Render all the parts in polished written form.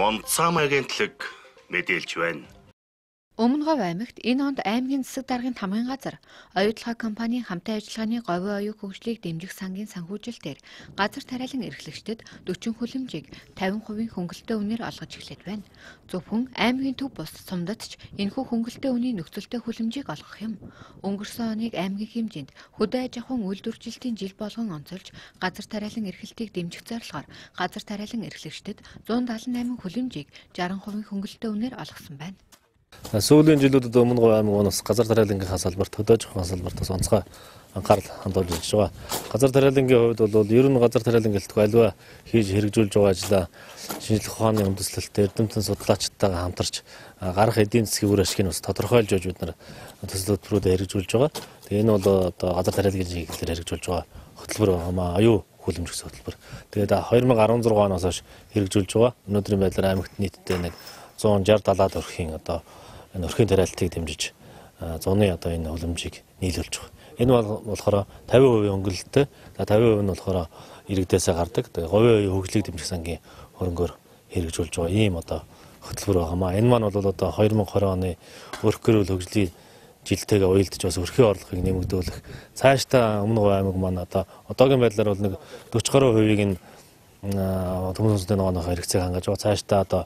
Монцам агентлаг мэдээлж байна. Өмнө Говь аймагт энэ онд аймгийн засаг даргын тамгын газар оюутлага компанийн хамтын ажиллагааны говийн оюун хөгжлийг дэмжих сангийн санхүүжилтээр газар тариалан эрхлэгчдэд 40 хүлэмжийг 50% хөнгөлөлтөө үнээр олгож эхлэв байна. Зөвхөн аймгийн төв бус сумдад ч энэхүү хөнгөлөлтөө үнийн нөхцөлтэй хүлэмжийг олгох юм. Өнгөрсөн оныг аймгийн хэмжээнд хөдөө аж ахуйн үйлдвэржилтийн жил болгон онцолж газар тариалан эрхлэлтийг дэмжих зорилгоор газар тариалан эрхлэгчдэд 178 хүлэмжийг 60% хөнгөлөлтөө үнээр олгосон байна. Сүүлийн жилүүдэд өмнө Говь аймагаас газар тариалангийнхаа салбарт хөдөө аж ахуйн салбартаас онцгой анхаарал хандуулж ирж байгаа. Газар тариалангийн хувьд бол ер нь газар тариалан гэлтгүй аливаа хийж хэрэгжүүлж байгаа ажлаа шинжлэх ухааны үндэслэлтэй эрдэмтэн судлаачдтайгаа хамтарч гарах эдийн засгийн үр ашгийг бас тодорхойлж өгж бид нар төсөл хөтөлбөрүүдэд хэрэгжүүлж байгаа. Тэгээ энэ бол одоо газар тариалангийн чиглэлээр хэрэгжүүлж байгаа хөтөлбөр оюу хүлэмж гэсэн хөтөлбөр. Тэгээд 2016 оноос хойш хэрэгжүүлж байгаа. Өнөөдрийн байдлаар аймагт нийтдээ нэг 160-70 өрхийн одоо энэ өрхийн тариалтыг дэмжиж 100-ны одоо энэ хүлэмжийг нийлүүлж байгаа. Энэ болохоор 50% өнгөлөлттэй, 50% нь болохоор иргэдээсээ гардаг. Тэгээ говийн оюун хөгжлийг дэмжих сангийн хөрөнгөөр хэрэгжүүлж байгаа ийм одоо хөтөлбөр байгаамаа. Энэ маань бол одоо 2020 оны өрх гэрүүл хөгжлийн жилтэйгээ уялдаж бас өрхийн орлогыг нэмэгдүүлэх. Цаашдаа өмнө Говь аймаг маань одоо одоогийн байдлаар бол нэг 40% нь төмөн сүнсний ногооныхоо хэрэгцээг хангаж байгаа. Цаашдаа одоо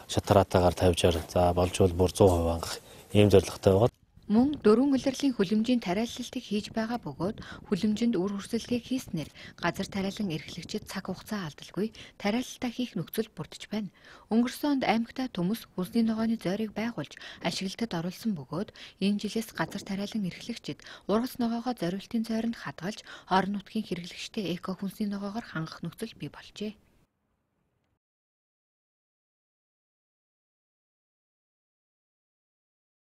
шатараатаагаар 50-60 за болж бол бүр 100% хангах ийм зорилготой байгаа. Мөн дөрвөн улирлын хүлэмжийн тариаллалтыг хийж байгаа бөгөөд хүлэмжинд үр хүрсэлтийг хийснээр газар тариалан эрхлэгчид цаг хугацаа алдалгүй тариалалтаа хийх нөхцөл бүрдэж байна. Өнгөрсөн онд аймагтаа төмөс хүнсний ногооны зойрыг байгуулж ашиглалтад оруулсан бөгөөд энэ жилээс газар тариалан эрхлэгчид ургац ногоогоо зориултын зойронд хадгалж орон нутгийн хэрэглэгчтэй эко хүнсний ногоогоор хангах нөхцөл бий болжээ.